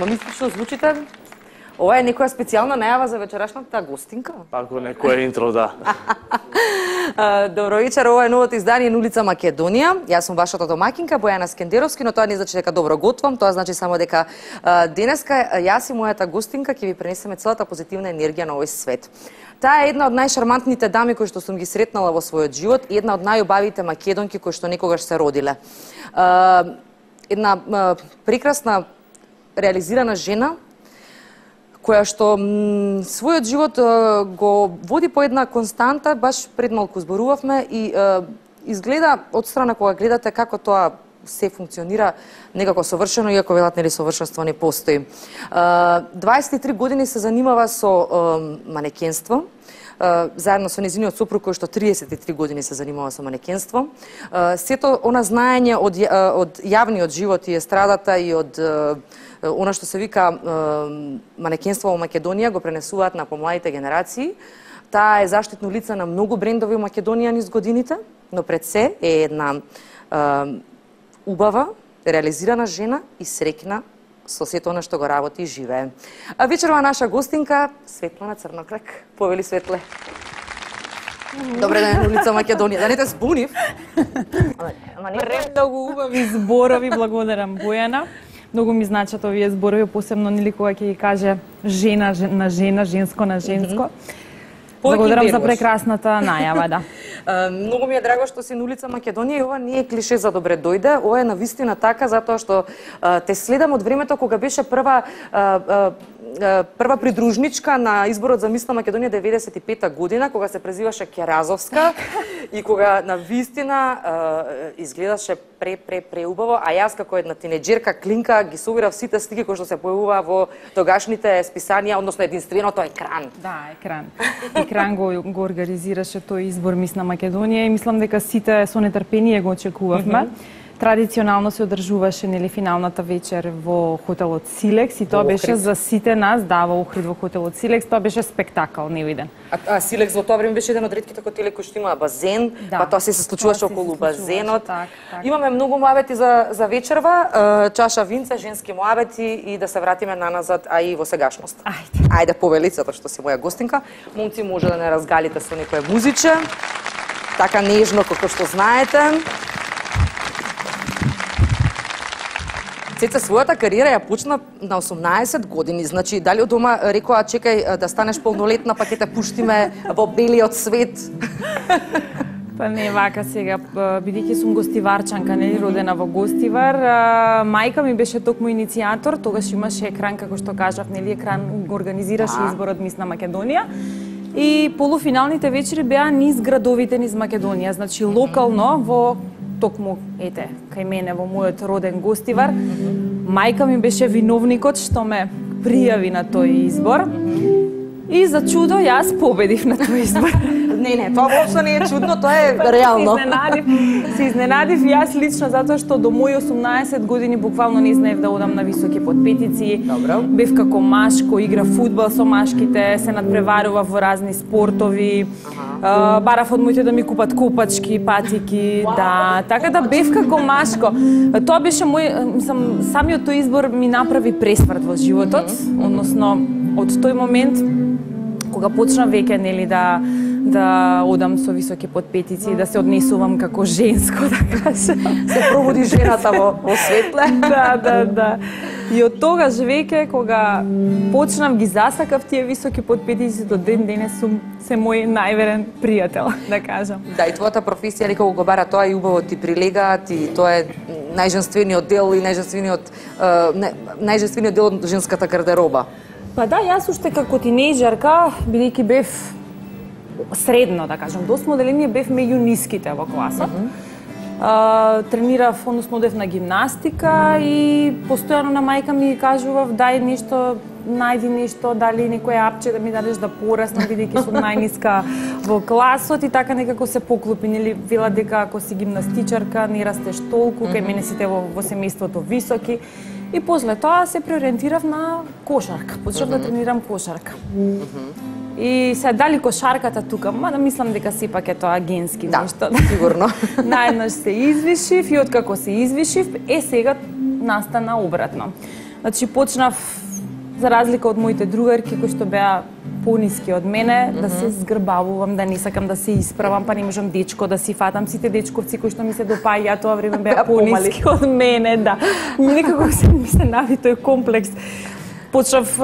Ама мистично звучите. Ова е некоја специјална најава за вечерашната гостинка? Ако некој интро, да. Добро вечер, ова е новото издание на улица Македонија. Јас сум вашата домакинка Бојана Скендеровски, но тоа не значи дека добро готвам, тоа значи само дека денеска јас и мојата гостинка ќе ви пренесеме целата позитивна енергија на овој свет. Таа е една од најшармантните дами кои што сум ги сретнала во својот живот и една од најубавите македонки кои што некогаш се родиле. Една прекрасна реализирана жена која што својот живот го води по една константа, баш пред малку зборувавме и изгледа од страна кога гледате како тоа се функционира некако совршено, иако велат нели совршенство не постои. 23 години се занимава со манекенство, заедно со нејзиниот сопруг кој што 33 години се занимава со манекенство. Сето она знаење од јавниот живот и естрадата и од она што се вика манекенство во Македонија го пренесуваат на помладите генерации. Таа е заштитно лице на многу брендови во Македонија низ годините, но пред се е една убава, реализирана жена и среќна со сето она што го работи и живее. А вечерва наша гостинка Светлана Црноклек. Повели Светле. Добре ден, улица Македонија. Да не те збунив. Многу убави зборови, благодарам Бојана. Многу ми значат овие зборови, посебно нели кога ќе ги каже жена на жена, женско на женско. Благодарам за прекрасната најава, да. Многу ми е драго што си на улица Македонија и ова не е клише за добре дојде, ова е навистина така затоа што те следам од времето кога беше прва придружничка на изборот за мис на Македонија 95-та година, кога се презиваше Керазовска и кога навистина изгледаше преубаво, а јас како една тинеџерка клинка ги собирав сите слики кои што се појавува во тогашните списанија, односно единственото Екран. Да, Екран. Екран го организираше тој избор мис на Македонија и мислам дека сите со нетрпение го очекувавме. Традиционално се одржуваше нели финалната вечер во хотелот Силекс и тоа беше за сите нас, да, во Охрид во хотелот Силекс, тоа беше спектакл невиден. А Силекс во тоа време беше еден од ретките хотели кои што имаа базен, да, па тоа се случуваше околу базенот. Так. Имаме многу муабети за вечерва, чаша винце, женски муабети и да се вратиме наназад, а и во сегашност. Ајде повели, затоа што си моја гостинка. Момци, може да не разгалите со некое музиче, така нежно како што знаете. Цеца својата кариера ја почна на 18 години, значи дали од дома рекоа чекај да станеш полнолетна па ќе те пуштиме во белиот свет? Па не вака сега, бидејќи сум гостиварчанка, нели родена во Гостивар, мајка ми беше токму иницијатор, тогаш имаше Екран како што кажав, нели Екран го организираше изборот мис на Македонија. И полуфиналните вечери беа низ градовите низ Македонија, значи локално во токму, ете, кај мене во мојот роден Гостивар. Мајка ми беше виновникот што ме пријави на тој избор. И за чудо јас победив на тој избор. Не, тоа воопшто не е чудно, тоа е реално. Се изненадив јас лично затоа што до мои 18 години буквално не знаев да одам на високи подпетици. Добро. Бев како машко, игра фудбал со машките, се надпреварував во разни спортови. Барав од моите да ми купат копачки, патики, да, така да бев како машко. Тоа беше самиот тој избор ми направи пресврт во животот, односно од тој момент кога почнав веќе нели да одам со високи подпетици, да се однесувам како женско, да кажам. Се пробуди жената во светле. Да. И од тогаш веќе кога почнав ги засакав тие високи подпетици, до ден денес се мој најверен пријател, да кажам. Да, и твојата професија некако го бара тоа и убаво ти прилегаат и тоа е најженствениот дел и најженствениот дел од женската гардероба. Па да, јас уште како тинејџерка, бидејќи бев средно, да кажам, до осмо одделение бев меѓу ниските во класот. Тренирав, односно одев на гимнастика и постојано на мајка ми кажував дај нешто, најди нешто, дали некој апче да ми дадеш да пораснам, бидејќи сум најниска во класот и така некако се поклопи, нели вела дека ако си гимнастичарка не растеш толку, кај мене сите во семејството високи. И после тоа се преориентирав на кошарка. Почнав да тренирам кошарка. И се дали кошарката тука, мада мислам дека сепак е тоа генски нешто. Да, сигурно. Наеднаш се извишив и откако се извишив, сега настана обратно. Значи почнав за разлика од моите другарки кои што беа пониски од мене, да се згрбавувам, да не сакам да се исправам, па не можам дечко да си фатам. Сите дечковци кои што ми се допаѓаат тоа време беа пониски од мене, да. Некако ми се нави тој комплекс. Почнав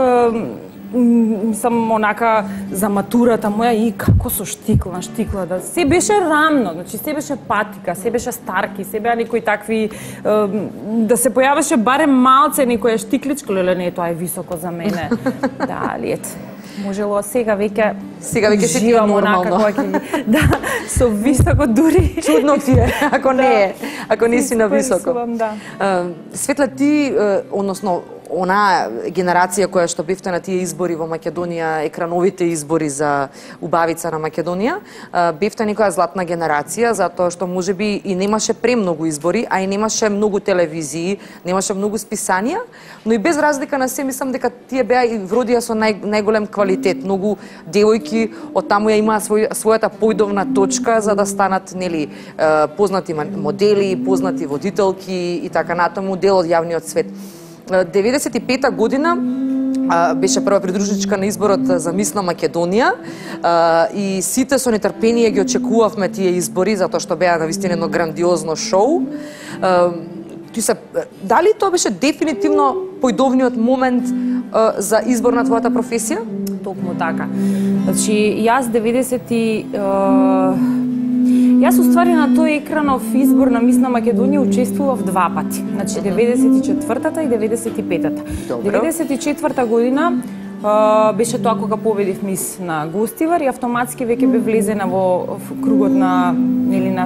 мислам онака за матурата моја и како со штикла, да се беше рамно, значи се беше патика, се беше старки, се беа некои такви да се појавеше барем малце некоја штикличка, леле не, тоа е високо за мене. Да, ете. Можело сега веќе се ти е нормално. Да, со високо дури. Чудно ти е, ако не е, ако не си на високо. Да. Светла, ти, односно, она генерација која што бевте на тие избори во Македонија, екрановите избори за убавица на Македонија, бевте некоја златна генерација, затоа што можеби и немаше премногу избори, а и немаше многу телевизии, немаше многу списанија, но и без разлика на се, мислам дека тие беа и вродија со најголем квалитет. Многу девојки од таму ја имаа својата појдовна точка за да станат, нели, познати модели, познати водителки и така натаму, дел од јавниот свет. 95-та година беше прва придружничка на изборот за мис на Македонија и сите со нетрпение ги очекувавме тие избори затоа што беа навистина едно грандиозно шоу. Дали тоа беше дефинитивно појдовниот момент за избор на твојата професија? Токму така. Значи, Јас уствари на тој екранов избор на мис на Македонија учествував два пати. Значи 94-та и 95-та. 94-та година беше тоа кога победив мис на Гостивар и автоматски веќе бе влезена во кругот на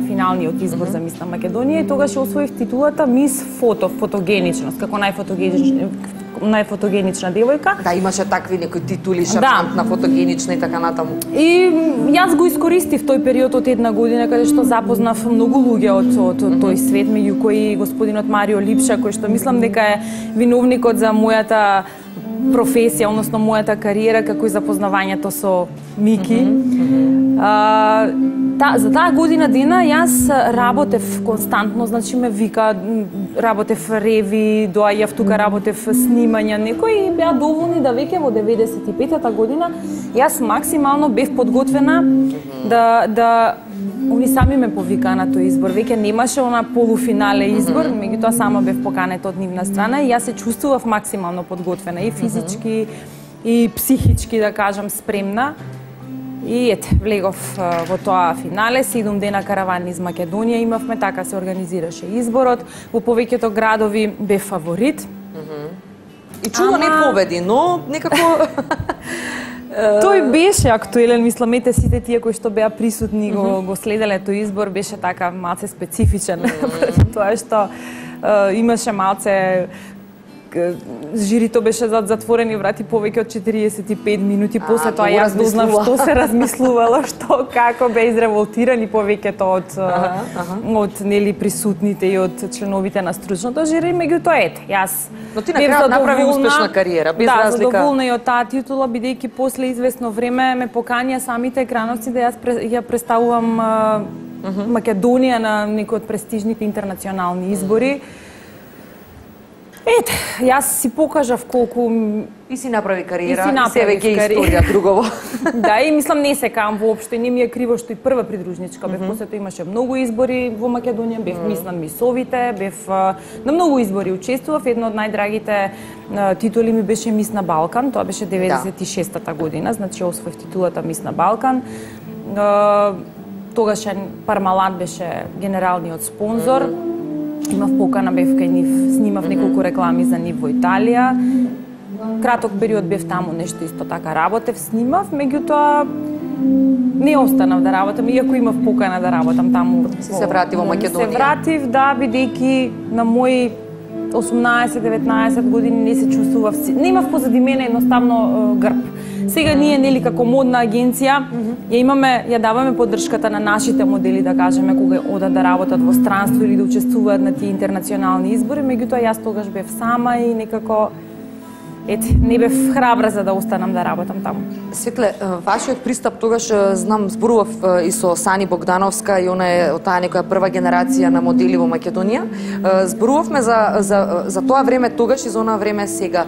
финалниот избор за мис на Македонија и тогаш освоив титулата мис фотогеничност, како најфотогенична девојка. Да, имаше такви некои титули, шармантна, фотогенична и така натаму. И јас го искористив тој период од една година каде што запознав многу луѓе од тој свет, меѓу кои господинот Марио Липша, кој што мислам дека е виновникот за мојата професија, односно мојата кариера, како и запознавањето со Мики. За таа година дена јас работев константно, значи ме вика, работев реви, доаѓав тука, работев снимања, некои беа доволни да веќе во 95-та година јас максимално бев подготвена да они сами ме повикаа на тој избор. Веќе немаше она полуфинале избор, меѓутоа само бев поканета од нивна страна и јас се чувствував максимално подготвена и физички и психички, да кажам, спремна. И ете, влегов во тоа финале, 7 дена караван из Македонија имавме, така се организираше изборот. Во повеќето градови бев фаворит. И чудо не победи, но некако тој беше актуелен, мислам, ете сите тие кои што беа присутни го следеле тој избор, беше така малце специфичен, тоа што имаше малце жирито беше зад затворени врати повеќе од 45 минути, после тоа јас дознав што се размислувало, што како бе изреволтирани повеќето од нели присутните и од членовите на стручното жири, меѓутоа ете, јас но ти на крај направи успешна кариера, без разлика. Да, задоволна и од таа титула, бидејќи после известно време ме поканија самите екрановци да јас ја представувам Македонија на некои од престижните интернационални избори. Ете, јас си покажав колку и си направи кариера, и се веќе историја другово. Да, и мислам не се кам воопшто, не ми е криво што и прва придружничка бев, после тоа имаше многу избори во Македонија, бев мис на мисовите, бев на многу избори учествував, едно од најдрагите титули ми беше мис на Балкан, тоа беше 96-та година, значи освоив титулата мис на Балкан. Тогашен Пармалат беше генералниот спонзор. Имав покана, бев кај нив, снимав неколку реклами за нив во Италија. Краток период бев таму, нешто исто така работев, снимав, меѓутоа не останав да работам, иако имав покана да работам таму. Се врати во Македонија? Се вратив, да, бидејќи на мои 18-19 години не се чувствував, немав позади мене едноставно грб. Сега ние, нели, како модна агенција, ја даваме поддршката на нашите модели, да кажеме, кога одат да работат во странство или да учествуваат на тие интернационални избори, меѓутоа јас тогаш бев сама и некако, ете, не бев храбра за да останам да работам таму. Светле, вашиот пристап тогаш, знам, зборував и со Сани Богдановска и она е од таа некоја прва генерација на модели во Македонија. Зборувавме за тоа време тогаш и за онаа време сега.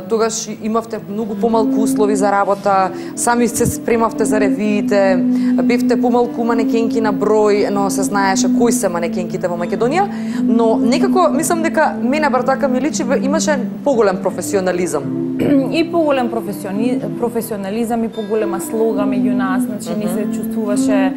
Тогаш имавте многу помалку услови за работа, сами се спремавте за ревиите, бевте помалку манекенки на број, но се знаеше кои се манекенките во Македонија, но некако мислам дека мене бар така ми личи имаше поголем професионализам. И поголем професионализам и поголема слога меѓу нас, значи не се чувствуваше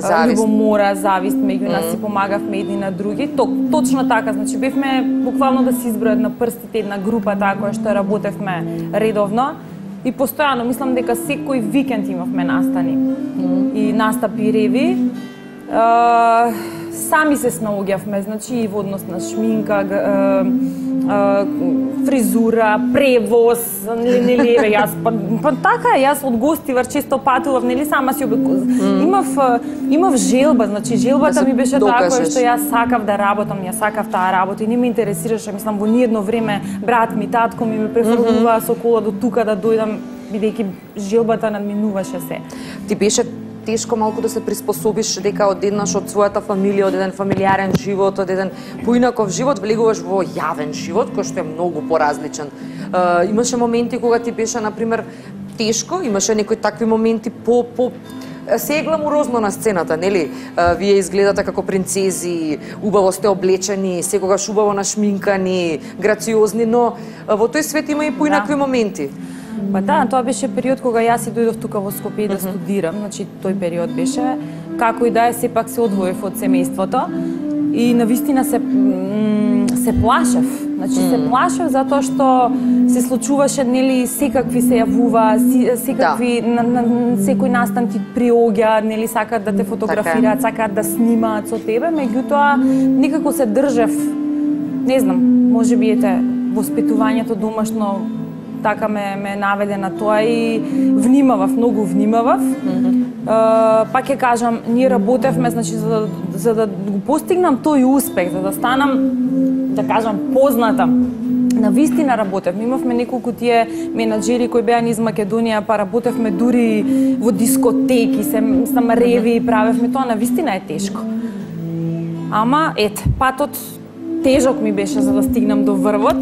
љубомора, завист меѓу нас, си помагавме едни на други. Точно така, значи бевме буквално да се избројат на прстите една група таа која што работевме редовно и постојано, мислам дека секој викенд имавме настани и настапи реви. Сами се снаоѓавме, значи и во однос на шминка, фризура, превоз, нели јас па така јас од Гостивар често патував, нели сама си имав желба, значи желбата ми беше таа која што јас сакав да работам, ја сакав таа работа и не ме интересираше, мислам во ниедно време брат ми, татко ми ме префрлува со кола до тука да дојдам бидејќи желбата надминуваше се. Ти беше тешко малку да се приспособиш дека одеднаш од својата фамилија, од еден фамилиарен живот, од еден поинаков живот, влегуваш во јавен живот, кој што е многу поразличен. Имаше моменти кога ти беше, например, тешко, имаше некои такви моменти се е гламурозно на сцената, нели? Вие изгледате како принцези, убаво сте облечени, секогаш убаво нашминкани, грациозни, но во тој свет има и поинакви моменти. Па да, тоа беше период кога јас и дојдов тука во Скопје да студирам, значи тој период беше, како и да е, сепак се одвоев од семејството и навистина се плашев. Значи се плашев затоа што се случуваше, нели, секакви се јавува, секакви секој настан ти приоѓа, нели, сакаат да те фотографираат, сакаат да снимаат со тебе, меѓутоа никако се држев, не знам, можеби ете воспитувањето домашно така ме наведе на тоа и внимавав, многу внимавав. Пак ќе кажам, ние работевме, значи за да го постигнам тој успех, за да станам, да кажам, позната. Навистина работевме, имавме неколку тие менаџери кои беа низ Македонија, па работевме дури во дискотеки, се реви, правевме тоа, навистина е тешко. Ама ете, патот тежок ми беше за да стигнам до врвот.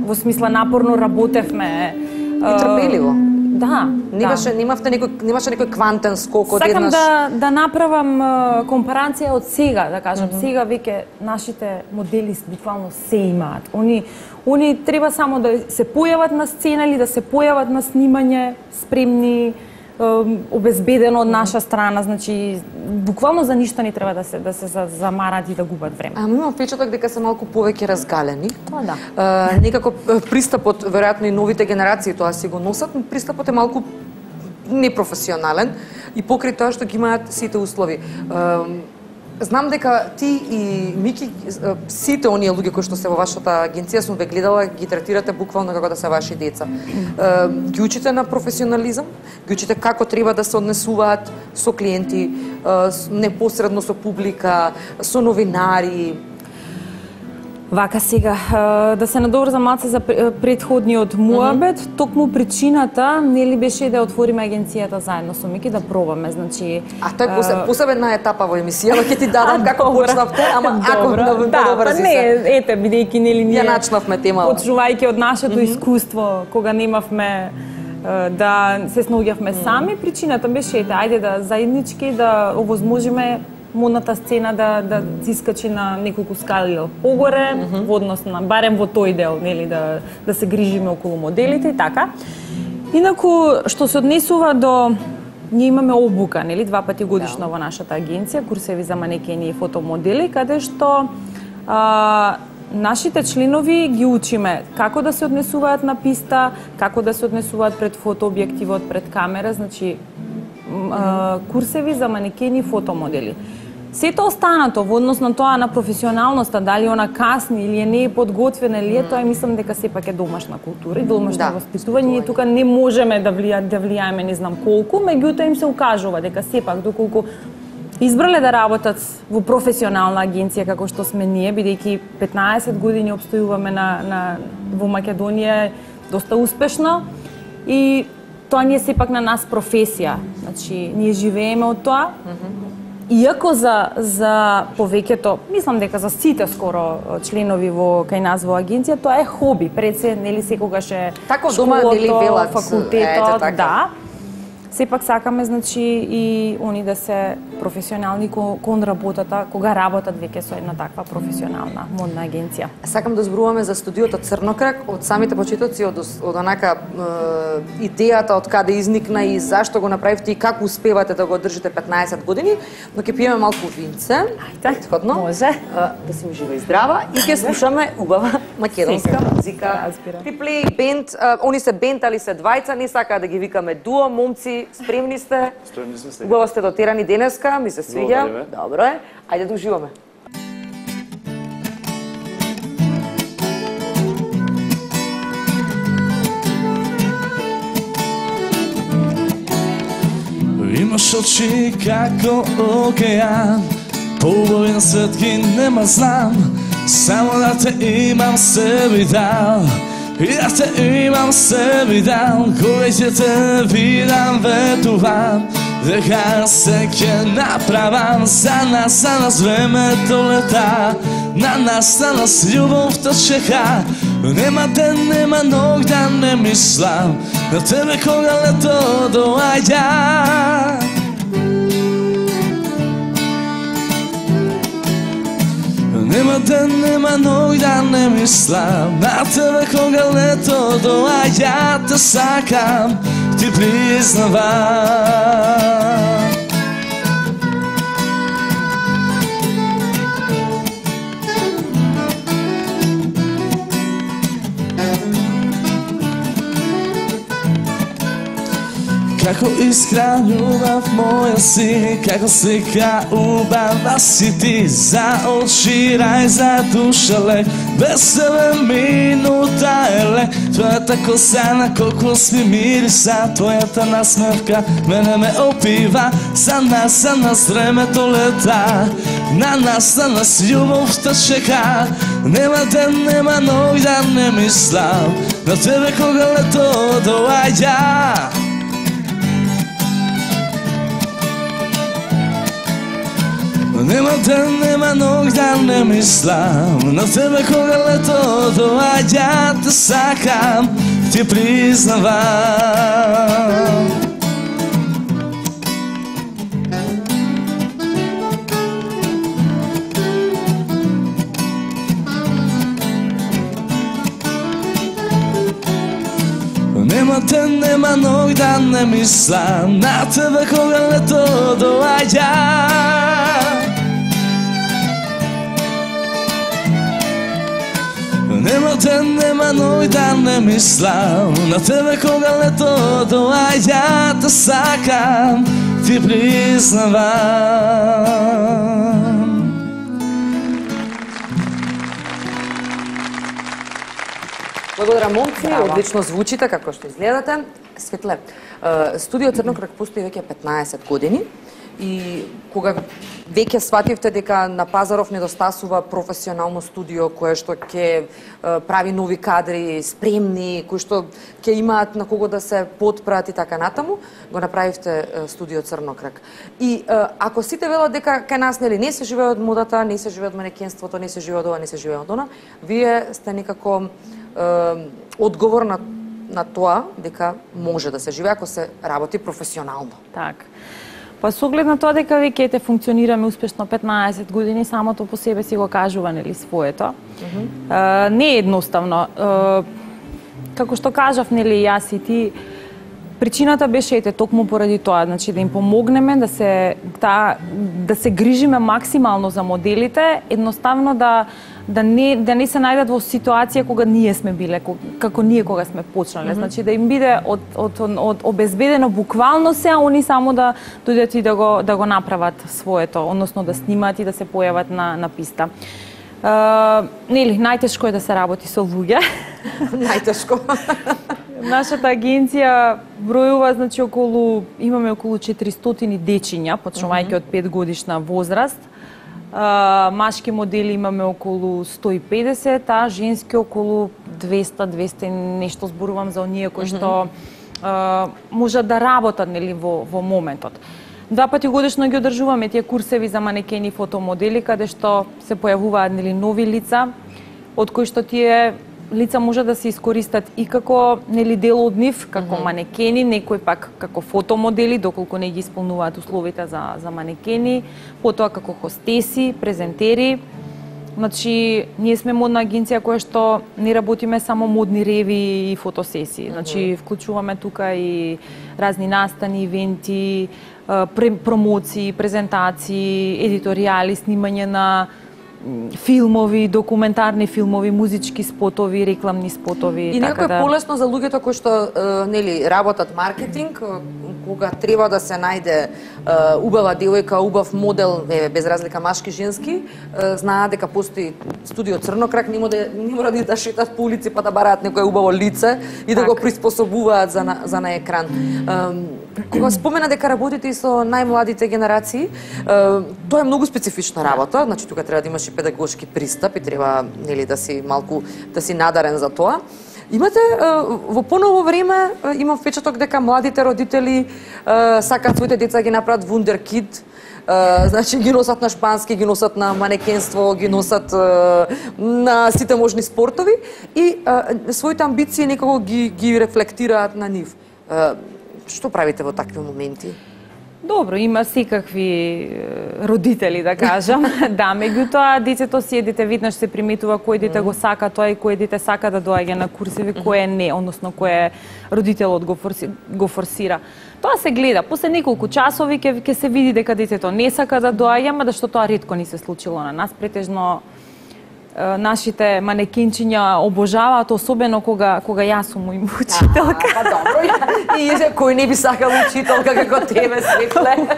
Во смисла напорно работевме и трпеливо. Да. Немавте некој квантен скок одеднаш. Сакам да направам компарација од сега, да кажам. Сега веќе нашите модели буквално се имаат. Они треба само да се појават на сцена или да се појават на снимање, спремни, обезбедено од наша страна, значи буквално за ништо не треба да се замарат и да губат време. Имам впечаток дека се малку повеќе разгалени. Тоа да. Некако пристапот, веројатно и новите генерации тоа си го носат, но пристапот е малку непрофесионален и покрај тоа што ги имаат сите услови. Знам дека ти и Мики, сите оние луѓе кои што се во вашата агенција, сум ве гледала, ги третирате буквално како да се ваши деца. Ги учите на професионализам, ги учите како треба да се однесуваат со клиенти, непосредно со публика, со новинари. Вака сега, да се надоврзам малце за претходниот муабет, токму причината нели беше да отвориме агенцијата заедно со Мики да пробаме, значи. Тоа е посебна етапа во емисијава, ќе ти дадам како почнавте, ама ако да не, ете бидејќи нели ние ја начнавме темава. Почнувајќи од нашето искуство кога немавме да се снаоѓавме сами, причината беше ете ајде да заеднички да овозможиме модната сцена да искачи на неколку скали погоре, во однос на барем во тој дел, нели да се грижиме околу моделите и така. Инаку што се однесува до ние имаме обука, нели 2 пати годишно во нашата агенција, курсеви за манекени и фотомодели, каде што нашите членови ги учиме како да се однесуваат на писта, како да се однесуваат пред фотообјективот, пред камера, значи курсеви за манекени и фотомодели. Сето останато во однос на тоа на професионалноста, дали она касни или не е подготвена или е, тоа мислам дека сепак е домашна култура и домашно воспитување и тука не можеме да влијаеме не знам колку, меѓутоа им се укажува дека сепак доколку избрале да работат во професионална агенција како што сме ние, бидејќи 15 години обстојуваме во Македонија доста успешно и тоа ни е сепак на нас професија. Значи, ние живееме од тоа. Иако за повеќето, мислам дека за сите скоро членови кај нас во агенција, тоа е хоби. Пред се, нели, секогаш е така дома, нели, велат, факултетот, така. да. Сепак сакаме, значи, и они да се професионални кон работата, кога работат веќе со една таква професионална модна агенција. Сакам да зборуваме за студиото Црнокрак од самите почетоци, од онака идејата од каде изникна и зашто го направивте и како успевате да го одржите 15 години, но ќе пиеме малку винце. Ајде, може. Да си жива и здрава и ќе слушаме убава македонска музика. Триплей бенд, они се бенд, али се двајца, не сакаа да ги викаме дуо, момци, спремни сте? Спремни сме. Убаво сте дотерани денеска, ми се свиѓа. Добро е. Ајде да уживаме. Имаш очи како океан, поубави на свет ги нема знам, само да те имам себе дал. И да те имам себе дал, кога ќе те видам ветувам, дека се ќе направам за нас времето лета, на нас љубовта чека. Нема ден, нема ног да не мислам на тебе кога лето доаѓа. Нема ден, нема ног да не мислам на тебе кога лето доаѓа. Те сакам, ти признавам. Како искра љубав моја си, како слика убава си ти, за очи рај, за душа лек, без тебе минута е лек. Твојата коса на кокос ми мириса, твојата насмевка мене ме опива, за нас времето лета, на нас љубовта чека. Нема ден, нема ног да не мислам на тебе кога лето доаѓа. Нема ден, нема ног да не мислам на тебе кога лето доаѓа. Те сакам, ти признавам. Нема ден, нема ног да не мислам на тебе кога лето доаѓа. Нема ден, нема ног да не мислам на тебе кога лето доаѓа. Те сакам, ти признавам. Благодарам, момци, одлично звучите како што изгледате. Светле, студио Црнокрак постои веќе 15 години и кога веќе свативте дека на пазаров недостасува професионално студио кое што ќе прави нови кадри, спремни, кои што ќе имаат на кого да се потпрат и така натаму, го направивте студио Црнокрак. И ако сите велат дека кај нас нели не се живее од модата, не се живее од манекенството, не се живее од ова, не се живее од она, вие сте некако одговор на тоа дека може да се живее ако се работи професионално. Так. Па со оглед на тоа дека веќе ете функционираме успешно 15 години, самото по себе си го кажува, нели, своето. Не е едноставно. Како што кажав, нели, јас и ти, причината беше ете токму поради тоа, значи да им помогнеме да се грижиме максимално за моделите, едноставно да не се најдат во ситуација кога ние сме биле, како ние кога сме почнале. Значи да им биде од обезбедено буквално се, а они само да дојдат и да го направат своето, односно да снимаат и да се појават на писта. Нели, најтешко е да се работи со луѓе. Најтешко. Нашата агенција бројува, значи имаме околу 400 дечиња, почнувајќи од 5 годишна возраст. Машки модели имаме околу 150, а женски околу 200 нешто, зборувам за оние кои што можат да работат нели во моментот. 2 пати годишно ги одржуваме тие курсеви за манекени и фотомодели каде што се појавуваат нели нови лица од кои што тие лица може да се искористат и како нели дел од нив, како манекени, некои пак како фотомодели, доколку не ги исполнуваат условите за манекени, потоа како хостеси, презентери. Значи, ние сме модна агенција која што не работиме само модни реви и фотосесии. Значи, вклучуваме тука и разни настани, ивенти, промоции, презентации, едиторијали, снимање на филмови, документарни филмови, музички спотови, рекламни спотови. И некој полесно за луѓето кои што нели работат маркетинг, кога треба да се најде убава девојка, убав модел, без разлика машки, женски, знаат дека постои студио Црнокрак, не мора да шетат по улици па да бараат некое убаво лице и да го приспособуваат за на екран. Кога спомена дека работите и со најмладите генерации, тоа е многу специфична работа, значи тука треба да имаш и педагошки пристап и треба нели да си малку надарен за тоа. Имате во поново време имам впечаток дека младите родители сакаат своите деца ги направат вундеркид, значи ги носат на шпански, ги носат на манекенство, ги носат на сите можни спортови и своите амбиции некако ги рефлектираат на нив. Што правите во такви моменти? Добро, има секакви родители, да кажам. Да, меѓутоа, децето си дете веднаш се приметува кој дете го сака тоа и кој дете сака да доаѓа на курсеви, кој не, односно кој родителот го форсира. Тоа се гледа. После неколку часови ќе се види дека детето не сака да доаѓа, ма да што тоа ретко ни се случило на нас. Претежно нашите манекенчиња обожаваат, особено кога јас сум им учителка. Па добро, и кој не би сакал учителка како тебе, Светле?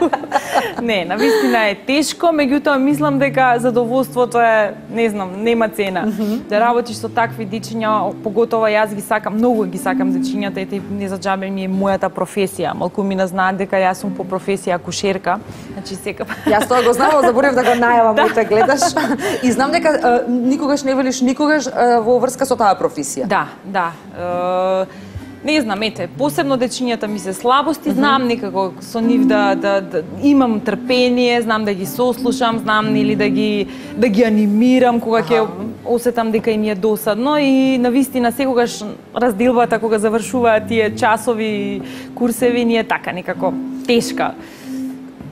Не, навистина е тешко, меѓутоа мислам дека задоволството е, не знам, нема цена. Да работиш со такви дечиња, поготово јас ги сакам, многу ги сакам дечињата, ете не за џабе ми е мојата професија. Малку ми знаат дека јас сум по професија акушерка. Значи секако. Јас тоа го знам, заборев да го најавам, моите гледаш. И знам дека никогаш не велиш никогаш во врска со таа професија. Да. Не знам, ете, посебно дечињата ми се слабости, знам некако со нив да имам трпение, знам да ги сослушам, знам нели да ги анимирам кога ќе осетам дека им е досадно и навистина секогаш разделбата кога завршуваат тие часови, курсеви ни е така некако тешка.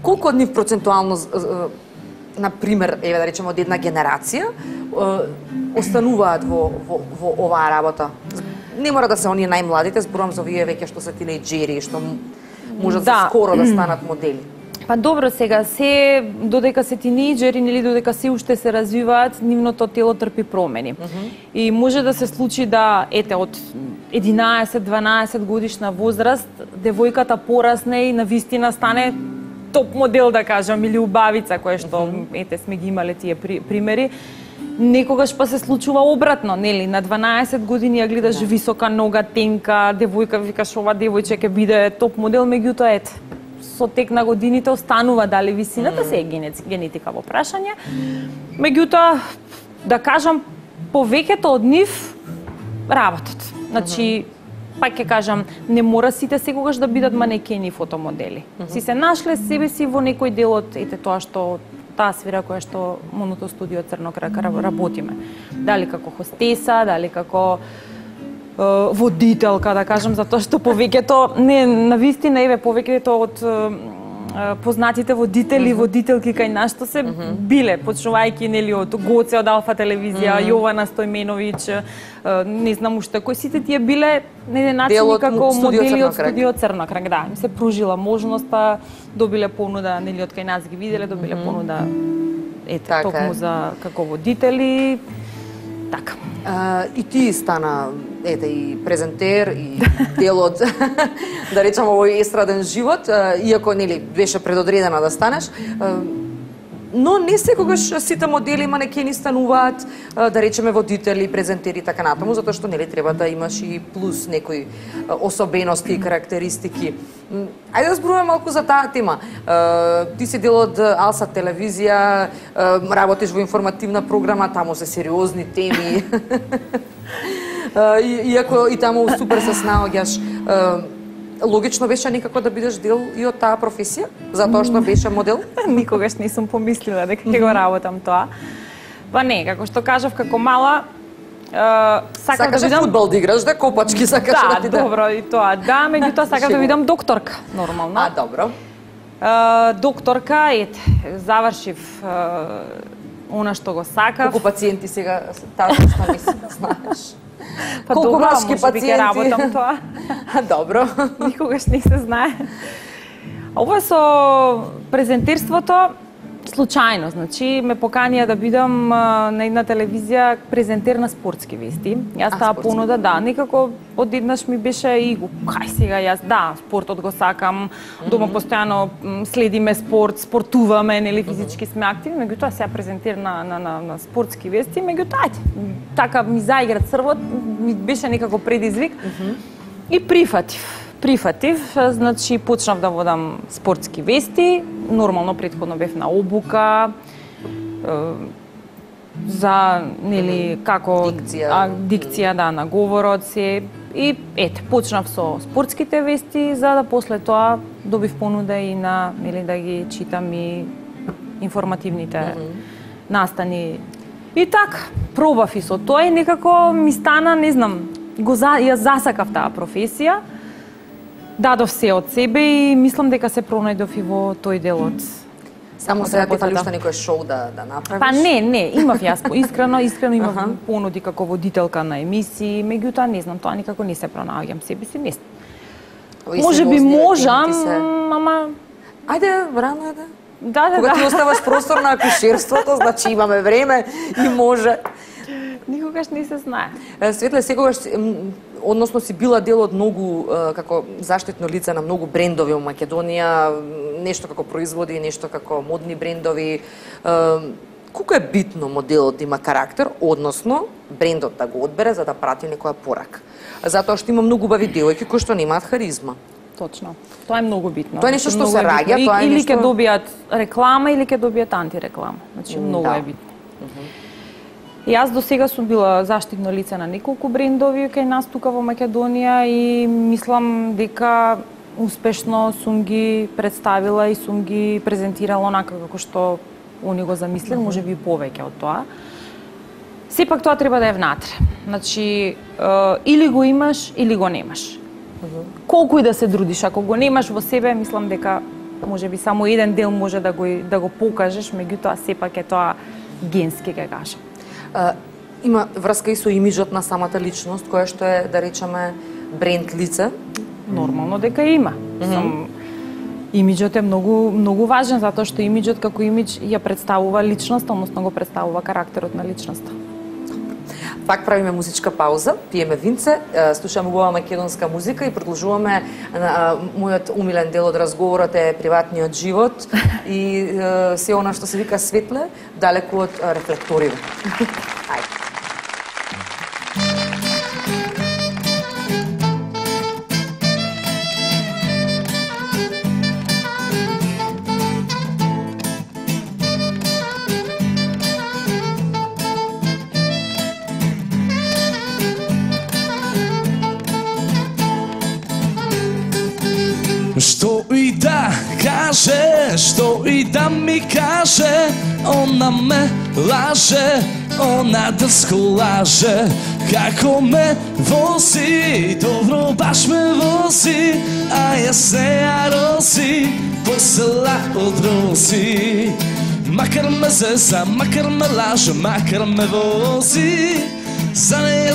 Колку од нив процентуално на пример, еве да речеме од една генерација, остануваат во оваа работа? Не мора да се оние најмладите, зборувам за овие веќе што се тинејџери, што можат скоро да станат модели. Па добро, сега се додека се тинејџери или додека се уште се развиваат, нивното тело трпи промени. И може да се случи да ете од 11-12 годишна возраст девојката порасне и навистина стане топ модел, да кажам, или убавица, која што ете сме ги имале тие примери. Некогаш па се случува обратно, нели? На 12 години ја гледаш висока нога, тенка, девојка, викаш ова девојче ќе биде топ модел, меѓутоа ете со тек на годините останува дали висината се е генетика во прашање. Меѓутоа, да кажам, повеќето од нив работат. Значи, пак ќе кажам, не мора сите секогаш да бидат манекени и фотомодели. Си се нашле себе си во некој дел од ете тоа што таа сфера која што Моното студио Црнокрак работиме. Дали како хостеса, дали како водителка, да кажам, затоа што повеќето, не, навистина, еве, повеќето од познатите водители, водителки кај нас што се биле, почнувајќи нели од Гоце од Алфа телевизија, Јована Стојменовиќ, не знам уште кои, сите тие биле на еден начин како модели од студио Црнокрак, да, им се пружила можноста, добиле понуда, нели од кај нас ги виделе, добиле понуда ете токму за како водители. Така. И ти стана ете и презентер и дел од да речеме овој естраден живот, иако нели беше предодредена да станеш. Но не секогаш сите модели манекени стануваат, да речеме, водители, презентери и така натаму, затоа што нели треба да имаш и плюс некои особености и карактеристики. Ајде да зборуваме малку за таа тема. Ти си дел од Алса телевизија, работиш во информативна програма, таму се сериозни теми. Иако и таму супер се снаоѓаш. логично беше некако да бидеш дел и од таа професија, затоа што беше модел? Никогаш не сум помислила дека ќе го работам тоа. Па не, како што кажав, како мала, сакав да бидам... фудбал да играш, да копачки сакаш да ти Да, добро, и тоа. Да, меѓутоа сакав да бидам докторка, нормално. добро. Докторка, ете, завршив она што го сакав. Колку пациенти сега таа што мислиш, знаеш? Па колку добро, машки може би ќе пациенти? работам тоа. Добро. Никогаш не се знае. Ова со презентерството случајно, значи ме поканија да бидам на една телевизија презентер на спортски вести. Јас таа понуда, да, некако одеднаш ми беше и кај сега јас, да, спортот го сакам, дома постојано следиме спорт, спортуваме, нели физички сме активни, меѓутоа сега презентер на спортски вести, меѓутоа така ми заигра црвот, ми беше некако предизвик и прифатив, значи почнав да водам спортски вести, нормално претходно бев на обука за нели како дикција да на говорот се и ете почнав со спортските вести за да после тоа добив понуда и на нели да ги читам и информативните настани. И така пробав и со тоа и некако ми стана, не знам, ја засакав таа професија. Дадов се од себе и мислам дека се пронајдов и во тој дел од Само сега ти фали уште некој шоу да направиш? Па не, имав јас, искрено имав понуди како водителка на емисии, меѓутоа не знам, тоа никако не се пронаоѓам себе си, не. Може би можам, ама ајде, рано е да. Да. Кога ти оставаш простор на акушерството, значи имаме време и може. Никогаш не се знае. Светле, секогаш односно си била дел од многу како заштитно лице на многу брендови во Македонија, нешто како производи, нешто како модни брендови. Колку е битно моделот да има карактер, односно брендот да го одбере за да прати некоја порака? Затоа што има многу убави девојки кои што немаат харизма. Точно. Тоа е многу битно. Тоа е нешто што се раѓа, тоа е или нешто... ќе добијат реклама или ќе добијат антиреклама. Значи многу е битно. Јас до сега сум била заштитно лице на неколку брендови кај нас тука во Македонија и мислам дека успешно сум ги представила и сум ги презентирала онака како што они го замислил, може би повеќе од тоа. Сепак тоа треба да е внатре. Значи, или го имаш, или го немаш. Колку и да се трудиш, ако го немаш во себе, мислам дека може би само еден дел може да го покажеш, меѓутоа сепак е тоа генски, ќе кажам. Има врска и со имиджот на самата личност, која што е, да речеме, бренд лице? Нормално дека има. Имиджот е многу важен, затоа што имиджот како имидж ја представува личноста, односно го представува карактерот на личноста. Пак правиме музичка пауза, пиеме винце, слушаме убава македонска музика и продолжуваме мојот умилен дел од разговорот е приватниот живот и се она што се вика светле, далеку од рефлекториве. Ајде. Што и да каже, што и да ми каже, она ме лаже, она дрско лаже, како ме вози, добро баш ме вози, а јас не ја рози, посела од рози. Макар ме зеза, макар ме лаже, макар ме вози, за неја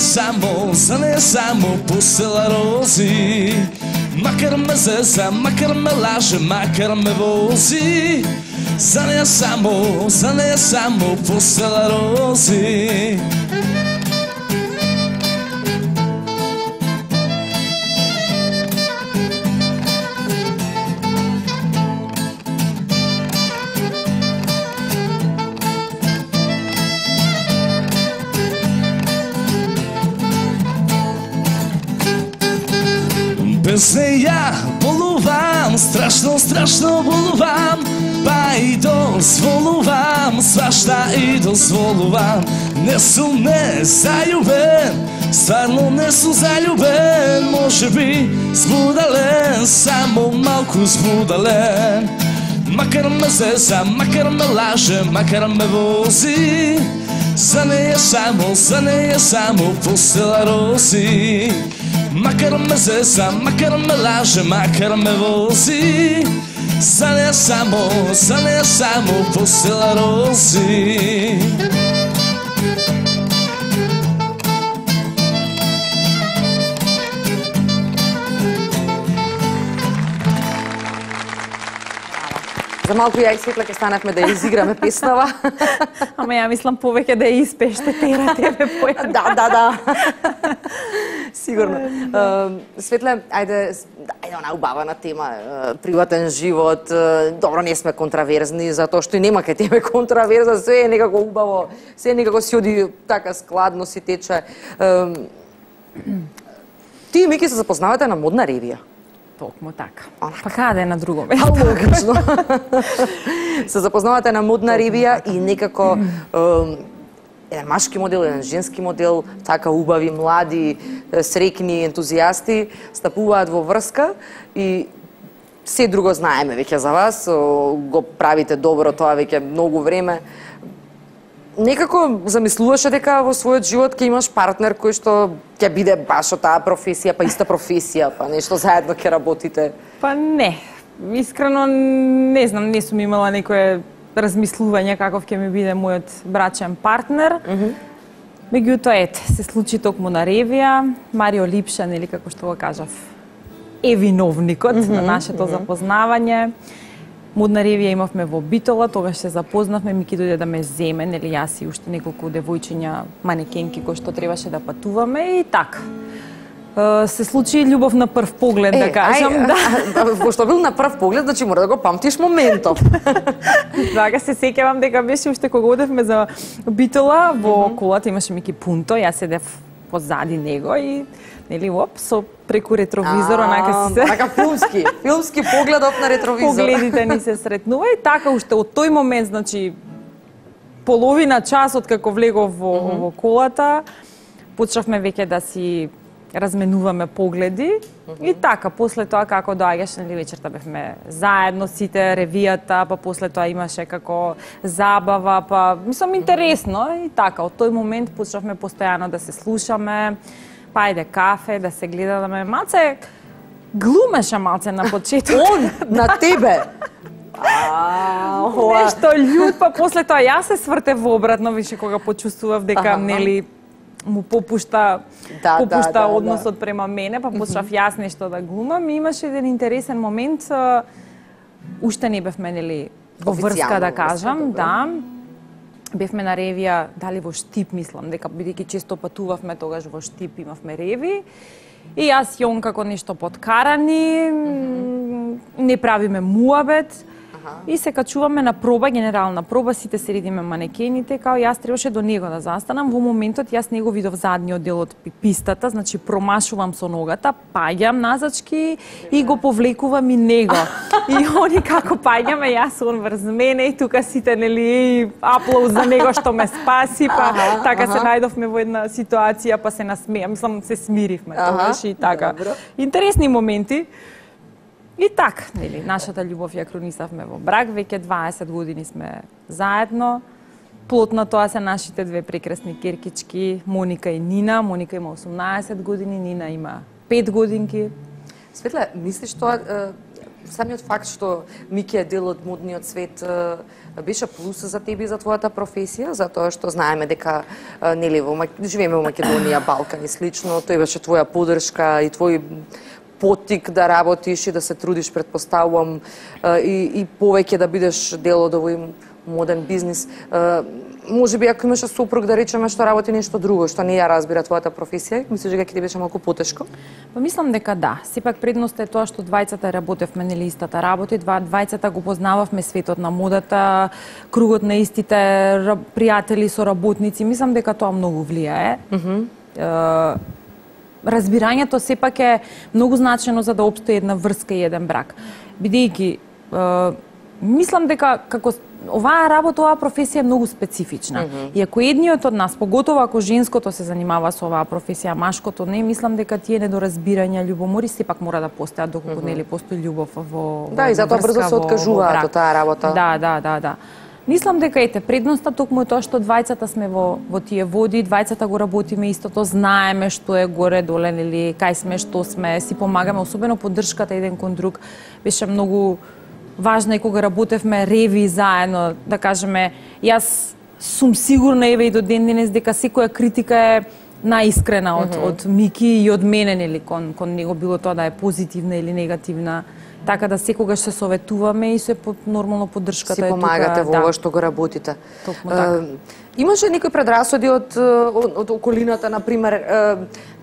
само посела рози. Макар ме зеза, макар ме лаже, макар ме вози, за неја само посела рози. Без неја болувам, страшно болувам, па и дозволувам, свашта и дозволувам. Не сум не зајубен, Стварно не сум заљубен, може би збудален, само малку збудален. Макар ме зеза, макар ме лаже, макар ме вози, за неја само постела рози. Макар ме зеза, макар ме лаже, макар ме вози, за неја само постела рози. За малку ја и Светла ќе станавме да ја изиграме песнава. Ама ја мислам повеќе да ја испеште тера тебе појам. Да. Сигурно. Светле, ајде она убавана тема, приватен живот. Добро, не сме контраверзни, затоа што и нема кај тебе контраверза, све е некако убаво, све некако си оди така складно си тече. Ти и Мики се запознавате на модна ревија. Токму така. Па каде на друго место? Логично. Се запознавате на модна ревија и некако еден машки модел, еден женски модел, така убави, млади, среќни, ентузијасти, стапуваат во врска и се друго знаеме веќе за вас, го правите добро тоа веќе многу време. Некако замислуваше дека во својот живот ќе имаш партнер кој што ќе биде баш од таа професија, па иста професија, па нешто заедно ќе работите? Па не. Искрено не знам, не сум имала некое размислување каков ќе ми биде мојот брачен партнер. Меѓутоа, се случи токму на ревија. Марио Липша, нели како што го кажав, е виновникот на нашето запознавање. Модна ревија имавме во Битола, тогаш се запознавме, Мики дојде да ме земе, нели јас и уште неколку девојчиња манекенки кои што требаше да патуваме и така. Се случи љубов на прв поглед, да кажам. Пошто бил на прв поглед, значи мора да го памтиш моментов. Така се сеќавам дека беше уште кога одевме за Битола, во колата имаше Мики Пунто, јас седев позади него и нели со преку ретровизор, онака си се... Така филмски погледов на ретровизор. Погледите ни се сретнува и така уште од тој момент, значи половина час од како влегов во колата, почнавме веќе да си разменуваме погледи и така, после тоа како доаѓаш, нели вечерта бевме заедно сите, ревијата, па после тоа имаше како забава, па мислам интересно и така, од тој момент почнавме постојано да се слушаме, па ајде кафе, да се гледаме, малце глумеше малце на почеток. Он на тебе. Нешто људ, па после тоа јас се свртев во обратно, више кога почувствував дека нели му попушта односот према мене, па почнав јас нешто да глумам и имаше еден интересен момент, уште не бевме нели во врска да кажам, да. Бевме на ревија, дали во Штип, мислам, дека бидејќи често патувавме, тогаш во Штип имавме реви. И јас и он како нешто подкарани, не правиме муабет. И се качуваме на проба, генерална проба, сите седиме манекените, као јас требаше до него да застанам. Во моментот јас него видов задниот дел од пистата, значи промашувам со ногата, паѓам назачки и го повлекувам и него. И они како паѓаме, јас он врз мене и тука сите нели аплауз за него што ме спаси, па така се најдовме во една ситуација, па се насмеа, мислам се смиривме тогаш и така. Интересни моменти. И така, нели, нашата љубов ја кронисавме во брак, веќе 20 години сме заедно. Плод на тоа се нашите две прекрасни керкички, Моника и Нина. Моника има 18 години, Нина има 5 годинки. Светле, мислиш тоа, самиот факт што Мики е дел од модниот свет, беше плюс за тебе и за твојата професија, затоа што знаеме дека нели живееме во Македонија, Балкан и слично, тој беше твоја поддршка и твој потик да работиш и да се трудиш, предпоставувам, и повеќе да бидеш дел од овој моден бизнис. Може би ако имаше сопруг, да речеме, што работи нешто друго, што не ја разбира твојата професија, мислиш дека ќе ти беше малку потешко? Па мислам дека да. Сепак предноста е тоа што двајцата работевме нели истата работа, двајцата го познававме светот на модата, кругот на истите пријатели, соработници. Мислам дека тоа многу влијае. Разбирањето сепак е многу значено за да опстои една врска и еден брак. Бидејќи мислам дека како оваа работа, оваа професија е многу специфична. И ако едниот од нас, поготово ако женското се занимава со оваа професија, машкото не, мислам дека тие недоразбирања, љубомори сепак мора да постојат доколку нели постои љубов во Да, и затоа брзо се откажуваат од таа работа. Да. Мислам дека предноста токму е тоа што двајцата сме во тие води, двајцата го работиме истото, знаеме што е горе доле, нели, кај сме, што сме, си помагаме, особено поддршката еден кон друг беше многу важна и кога работевме реви заедно, да кажеме, јас сум сигурна еве и до ден денес дека секоја критика е наискрена од Мики и од мене, нели, кон него, било тоа да е позитивна или негативна. Така да секогаш се советуваме и се нормално поддршката е тука. Си помагате во ова што го работите. Токму така. Имаше некои предрасуди од околината, например,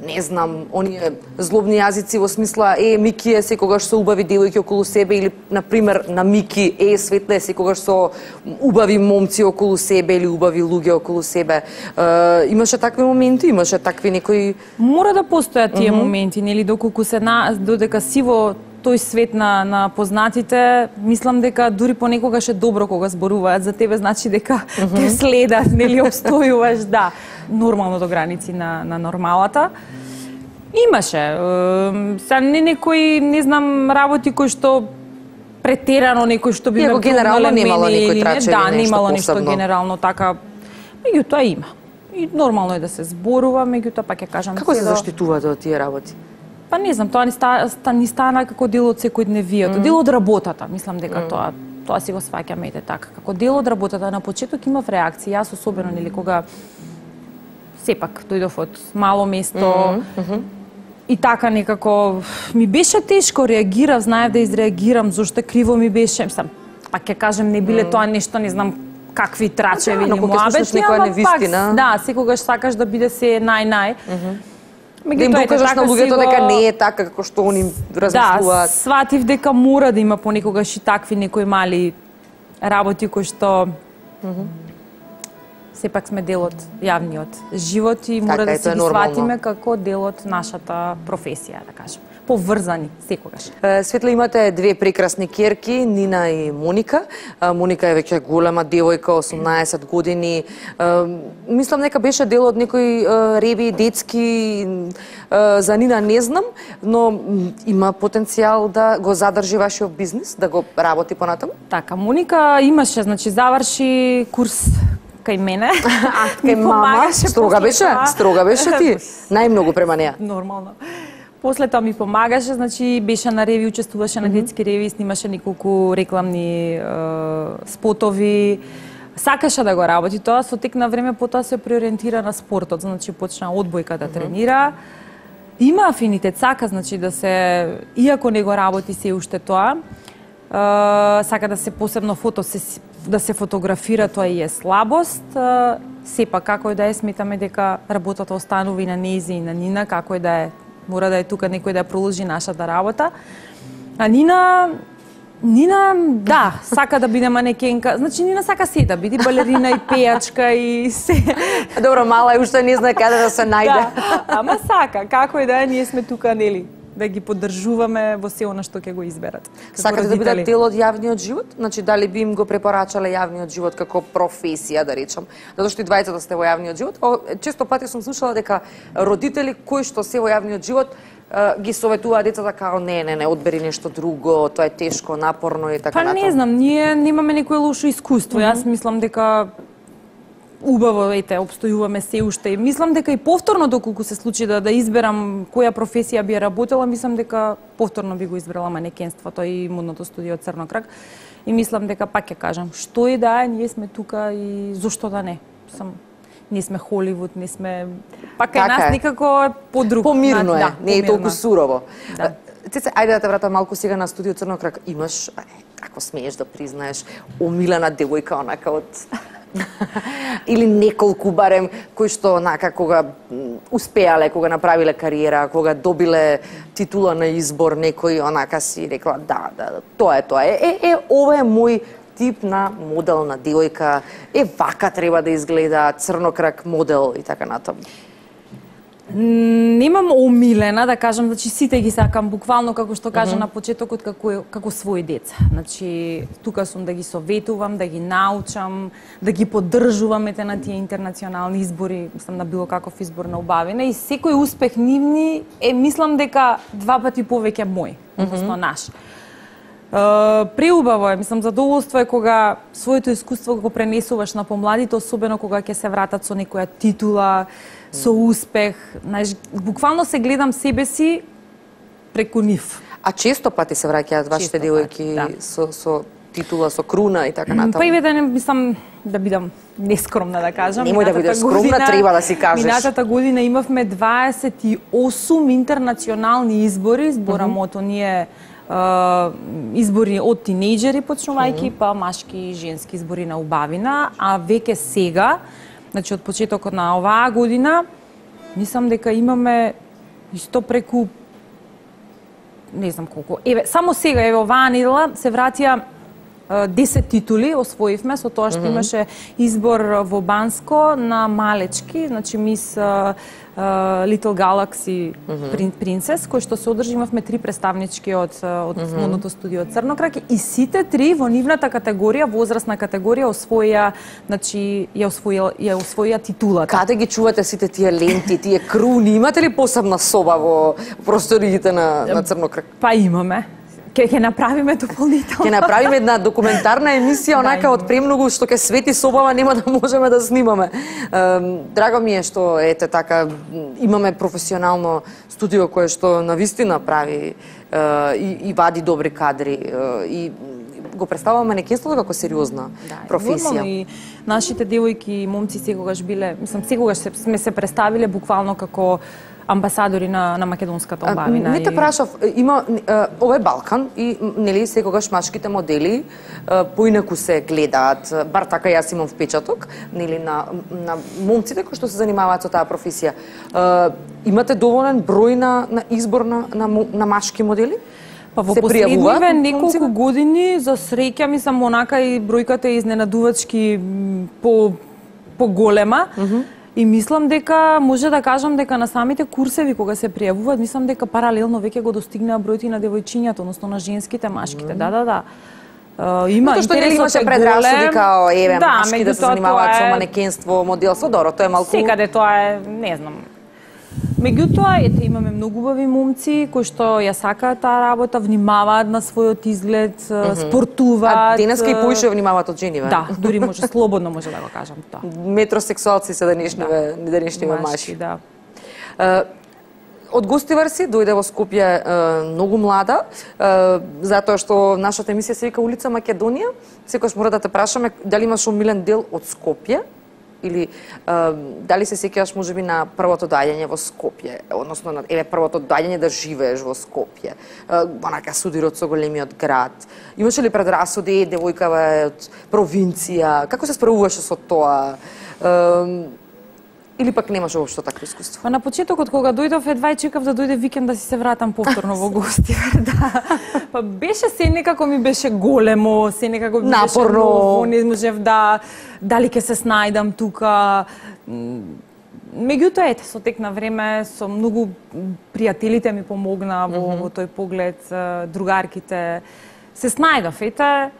не знам, оние злобни јазици во смисла Мики е секогаш со убави девојки околу себе или например на Мики Светле е секогаш со убави момци околу себе или убави луѓе околу себе. Имаше такви моменти, имаше такви некои Мора да постојат тие моменти, нели, доколку се додека си во тој свет на познатите, мислам дека дури понекогаш е добро кога зборуваат за тебе, значи дека те следат, нели, обстојуваш, да, нормално до граници на нормалата. Имаше, са не некои, не знам, работи кои што претерано некој што би ме генерално немало некој трачеви, да, нешто немало нешто посебно. генерално така. Меѓутоа има. И нормално е да се зборува, меѓутоа пак ќе кажам. Како се заштитувате од тие работи? Па не знам, тоа ни стана како дел од секојдневието, дел од работата, мислам дека тоа си го сваќаме ете така. Како дел од работата, на почеток имав реакции, јас особено, нели, кога сепак дојдов од мало место, и така некако ми беше тешко, реагирав, знаев да изреагирам, зошто криво ми беше, мислам, пак ќе кажем, не биле тоа нешто, не знам, какви трачеви или муабети, ама пак, да, секогаш сакаш да биде се нај. Да им докажеш на луѓето дека не е така како што они размислуваат. Да, сватив дека мора да има понекогаш и такви некои мали работи кои што сепак сме дел од јавниот живот и мора да се ги сватиме како дел од нашата професија, да кажем. Поврзани секогаш. Светле, имате две прекрасни ќерки, Нина и Моника. Моника е веќе голема девојка, 18 години. Мислам дека беше дел од некои реви детски, за Нина не знам, но има потенцијал да го задржи вашиот бизнис, да го работи понатаму? Така, Моника имаше, значи заврши курс кај мене. Кај мама, строга беше ти. Најмногу према неа. Нормално. После тоа ми помагаше, значи беше на реви, учествуваше на детски реви, снимаше неколку рекламни спотови. Сакаше да го работи тоа, со тек на време потоа се преориентира на спортот, значи почна одбојка да тренира. Има афинитет, сака, значи да се, иако не го работи се уште тоа, сака да се посебно да се фотографира, тоа и е слабост. Сепак, како и да е, сметаме дека работата останува и на нејзи и на Нина, како и да е, мора да е тука некој да ја продолжи нашата работа. А Нина, да, сака да биде манекенка. Значи, Нина сака се да биде балерина и пејачка и се. Добро, мала е, уште не знае каде да се најде. Да, ама сака, како и да е, ние сме тука, нели, да ги поддржуваме во се она што ќе го изберат. Сакате да бидат дел од јавниот живот? Значи, дали би им го препорачале јавниот живот како професија, да речам? Затоа што и двајцата сте во јавниот живот. Често пати сум слушала дека родители кои што се во јавниот живот ги советуваат децата како не, одбери нешто друго, тоа е тешко, напорно и така натаму. Па не знам, ние немаме некое лошо искуство. Јас мислам дека убаво, обстојуваме се уште. Мислам дека и повторно, доколку се случи да изберам која професија би работела, мислам дека повторно би го избрала манекенството и модното студио Црно крак. И мислам дека, пак ќе кажам, што и да е, ние сме тука и зошто да не. Не сме Холивуд, не сме... Пак е нас никако подруг. Помирно е, не е толку сурово. Цеце, ајде да те вратам малку сега на студио Црно крак. Имаш, ако смееш да признаеш, омилена девојка онака од... или неколку барем кои што онака кога успеале, кога направиле кариера, кога добиле титула на избор, некој онака си рекла да, тоа е. Ова е мој тип на моделна девојка, вака треба да изгледа, црнокрак модел и така натаму. Немам омилена, да кажам, значи сите ги сакам буквално како што кажа на почетокот како своји деца. Значи тука сум да ги советувам, да ги научам, да ги поддржувам на тие интернационални избори, мислам на било каков избор на убавина и секој успех нивни мислам дека 2 пати повеќе мој, односно наш. Преубаво е, мислам, задоволство е кога своето искуство го пренесуваш на помладите, особено кога ќе се вратат со некоја титула, со успех. Знаеш, буквално се гледам себе си преку нив. А често пати се враќаат вашите девојки со титула, со круна и така натаму? Па и да не мислам да бидам нескромна да кажам. Немој да бидеш скромна, треба да си кажеш. Минатата година имавме 28 интернационални избори, зборам од оние избори од тинејџери почнувајќи, па машки и женски избори на убавина, а веќе сега, значи од почетокот на оваа година, мислам дека имаме исто преку не знам колку. Еве, само сега, еве оваа недела се вратија 10 титули освоивме со тоа што имаше избор во Банско на малечки, значи мис Little Galaxy Princess, кој што се одржи, имавме 3 представнички од модното студио Црнокрак и сите 3 во нивната категорија, возрастна категорија, освоија, значи ја освоија титулата. Каде ги чувате сите тие ленти, тие круни? Имате ли посебна соба во просториите на Црнокрак? Па имаме. Ќе направиме дополнително. Ќе направиме една документарна емисија, онака од премногу што ќе свети собава, нема да можеме да снимаме. Драго ми е што ете така имаме професионално студио кое што навистина прави и вади добри кадри и го представуваме манекенството како сериозна професија. И нашите девојки и момци секогаш биле, мислам секогаш сме се представиле буквално како амбасадори на македонската убавина. Не те прашав, има ова е Балкан и нели секогаш машките модели поинаку се гледаат, бар така јас имам впечаток, нели на момците кои што се занимаваат со таа професија. Имате доволен број на избор на машки модели? Па во последниве неколку години за среќа мислам онака и бројката е изненадувачки по голема. И мислам дека може да кажам дека на самите курсеви кога се пријавуваат, мислам дека паралелно веќе го достигнаа бројот и на девојчињата, односно на женските, машките. Да. Има интересот е имаше предразсуди као еве машки да се занимаваат со манекенство, моделство, добро, тоа е малку. Секаде тоа е, не знам. Меѓутоа, ете, имаме многу убави момци кои што ја сакаат таа работа, внимаваат на својот изглед, спортуваат. А денеска и поише внимаваат од жени, Да, дури може слободно може да го кажам тоа. Метросексуалци се денешниве машки. Да. Од Гостивар си дојде во Скопје многу млада, затоа што нашата емисија се вика Улица Македонија. Секогаш мора да те прашаме дали имаш омилен дел од Скопје или дали се сеќаваш можеби на првото доаѓање во Скопје, односно на првото доаѓање да живееш во Скопје, онака судирот со големиот град. Имаше ли предрасуди, девојка од провинција, како се справуваше со тоа? Или пак немаше воопшто такво искуство? Па на почетокот кога дојдов едва и чекав да дојде викенд да си се вратам повторно во Гостивар, да. Па беше се некако ми беше големо, се некако ми беше ново, не можев дали ќе се снајдам тука. Меѓутоа ете со тек на време со многу пријателите ми помогна во тој поглед, другарките се снајдов. Ете,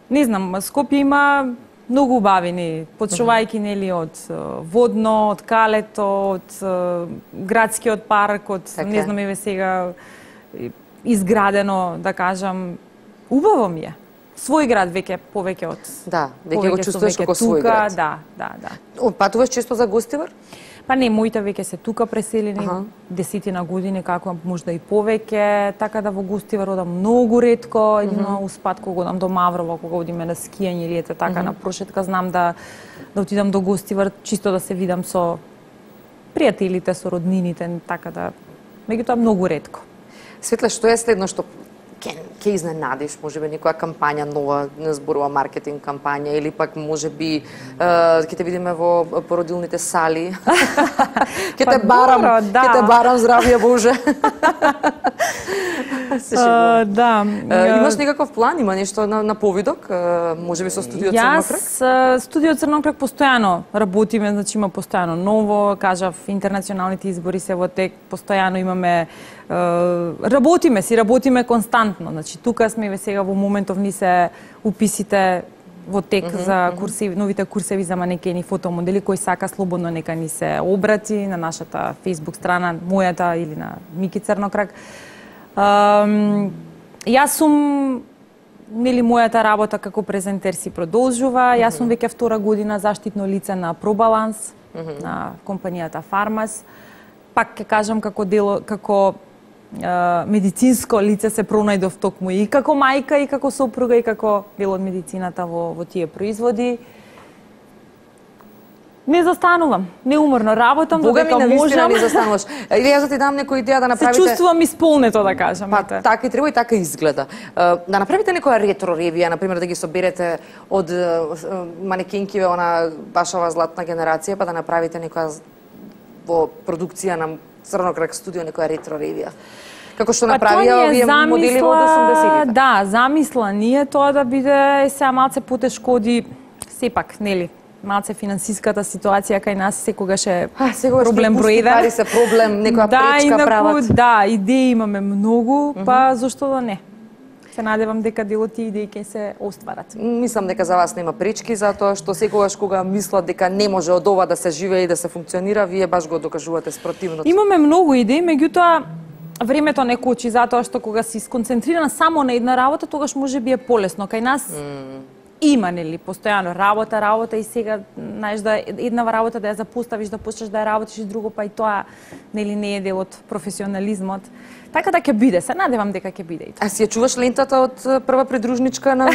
не знам, Скопје има многу убавини, почнувајќи нели од Водно, од Калето, од градскиот парк, од не знам еве сега изградено, да кажам, убаво ми е. Свој град веќе повеќе од веќе го чувствуваш како свој град. Да. Патуваш често за Гостивар? Па не, моите веќе се тука преселени, 10 години, како можда и повеќе, така да во Гостивар одам многу ретко, едино успат кога одам до Маврово, кога одиме на скијање или ете така на прошетка, знам да отидам до Гостивар, чисто да се видам со пријателите, со роднините, така да, меѓутоа многу ретко. Светле, што е следно што ќе изненадиш, можеби некоја кампања нова, не зборува маркетинг кампања или пак можеби ќе те видиме во породилните сали. Ќе те барам здравје Боже. Се шегувам. Да. Имаш некаков план, има нешто на повидок, можеби со студио Црнокрак? Студио Црнокрак постојано работиме, значи има постојано ново, кажав, интернационалните избори се во тек, постојано имаме работиме константно. Значи тука сме сега во моментов ни се уписите во тек за курсеви, новите курсеви за манекени фотомодели, кој сака слободно нека ни се обрати на нашата Facebook страна, мојата или на Мики Црнокрак. Јас сум, нели, мојата работа како презентер си продолжува. Јас сум веќе втора година заштитно лице на Пробаланс, на компанијата Фармас. Пак ќе кажам како медицинско лице се пронајдов токму и како мајка, и како сопруга, и како дел од медицината во тие производи. Не застанувам, неуморно работам, додека можам. Бога ми, не застануваш. Или јас да ти дам некоја идеја да направите... Се чувствувам исполнето, да кажам. Па, така и треба и така изгледа. Да направите некоја ретро ревија, например, да ги соберете од манекенкиве, она башава златна генерација, па да направите некоја во продукција на Црнокрак студио, некоја ретро ревија. Како што направија овие модели од 80-тите. Да, замисла ние тоа да биде сега малце потешко оди, сепак, нели, малце финансиската ситуација кај нас секогаш е проблем број 1. Пари се проблем, некоја пречка прават. Да, идеи имаме многу, па зошто да не? Се надевам дека дел од тие идеи ќе се остварат. Мислам дека за вас нема пречки, затоа што секогаш кога мислат дека не може од ова да се живее и да се функционира, вие баш го докажувате спротивното. Имаме многу идеи, меѓутоа времето не кочи, затоа што кога си сконцентрирана само на една работа, тогаш можеби е полесно. Кај нас има, нели, постојано работа и сега, знаеш, да една работа да ја запоставиш, да почнеш да ја работиш и друго, па и тоа, нели, не е дел од професионализмот. Така да ќе биде, се надевам дека ќе биде и тоа. А си ја чуваш лентата од прва придружничка на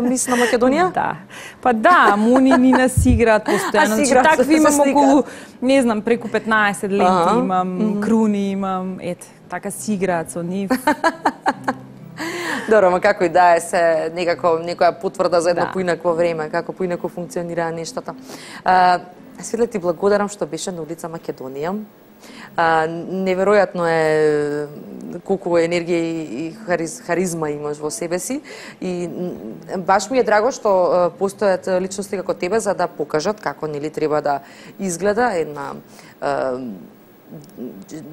Мис на Македонија? Да. Па да, Муни ни нас играат постојано. Значи, такви имам околу, не знам, преку 15 ленти имам, круни имам, ете, така си играат со нив. Добро, ма како и да е се некако некоја потврда за едно поинакво време, како поинако функционираа нештата. Светле, ти благодарам што беше на улица Македонија. Неверојатно е колку енергија и харизма имаш во себе си и баш ми е драго што постојат личности како тебе за да покажат како, нели, треба да изгледа една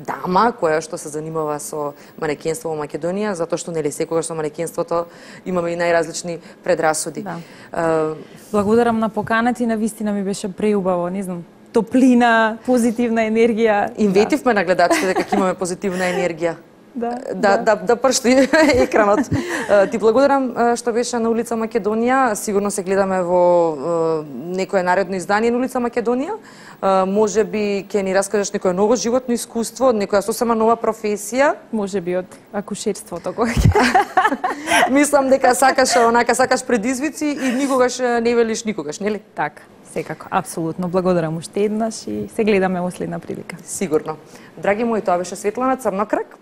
дама која што се занимава со манекенство во Македонија, затоа што, нели, секогаш со манекенството имаме и најразлични предрасуди. Да. Благодарам на поканата и навистина ми беше преубаво, не знам, топлина, позитивна енергија. Инветивме на гледачите дека имаме позитивна енергија. Да пршти екранот. Ти благодарам што беше на улица Македонија. Сигурно се гледаме во некое наредно издание на улица Македонија. Можеби ќе ни раскажеш некое ново животно искуство, некоја сосема нова професија. Можеби од акушерството. Мислам дека сакаш предизвици и никогаш не велиш никогаш, нели? Така. Секако, апсолутно. Благодарам уште еднаш и се гледаме во следна прилика. Сигурно. Драги мои, тоа беше Светлана Црнокрак.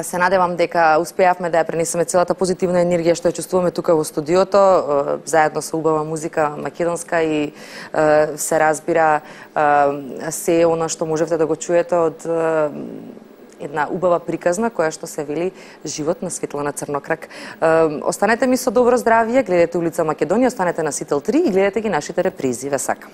Се надевам дека успеавме да ја пренесеме целата позитивна енергија што ја чувствуваме тука во студиото, заедно со убава музика македонска и се разбира се она што можевте да го чуете од една убава приказна која што се вели Живот на Светлана Црнокрак. Останете ми со добро здравје, гледате улица Македонија, останете на Сител 3 и гледате ги нашите репризи. Ве сакам.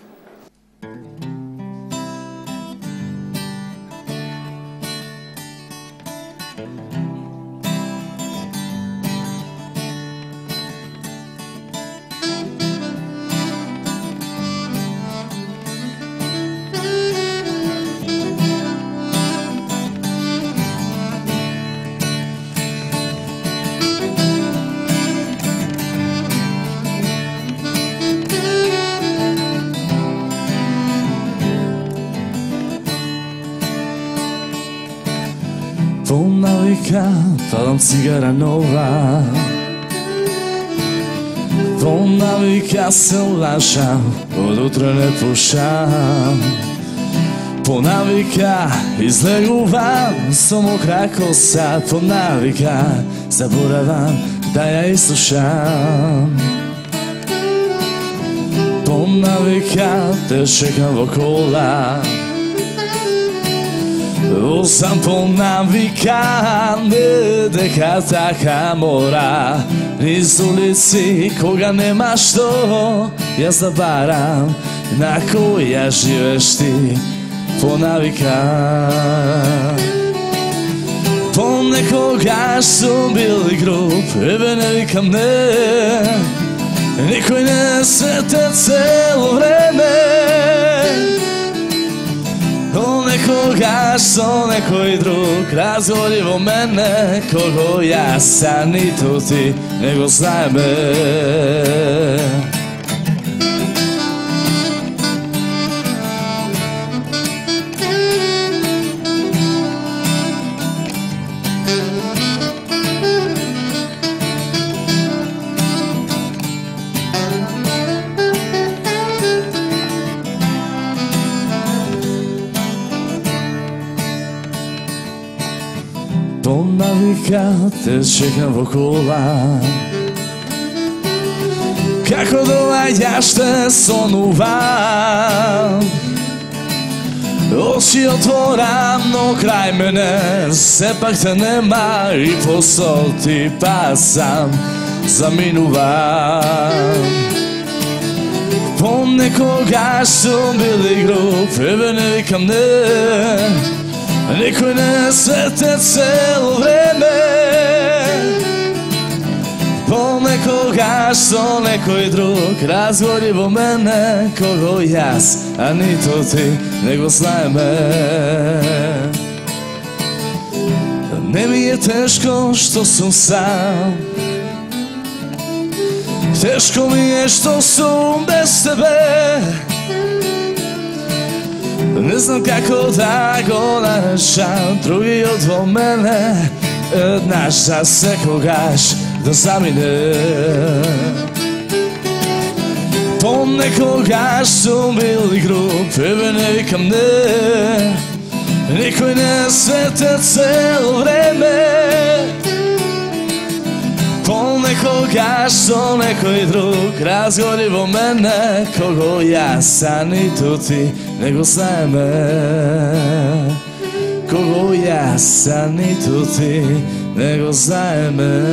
Навика, палам цигара нова. Навика се лашам, од утре не пушам. Навика излегувам, со мокра коса. Навика заборавам да ја изслушам. Навика те чекам во кола. Сам по навикане дека така мора. Низ улици кога нема што јас да барам, на која живееш ти по навика. Понекогаш сум бил и груб, ебе не викам не, никој не свете цело време. Понекогаш со некој друг разговори во мене, кого јас, а ниту ти не го знаеме. По навика те чекам во кола, како доаѓаш те сонувам. Очи отворам, но крај мене сепак те нема и посол ти пасам, заминувам. Понекогаш сум бил и груб, ебе не викам не, никој не свете цело време. Понекогаш со некој друг разговори во мене, кого јас, а нито ти не го знаеме. Не ми е тешко што сум сам, тешко ми е што сум без тебе. Не знам како да го нарешам, другиот во мене еднаш за секогаш да замине. Понекогаш сум бил и груб, ебе не викам не, никој не свете цело време. Понекогаш со некој друг разговори во мене, кого јас, а ниту ти не го знаеме. Кого јас, а ниту ти не го знаеме.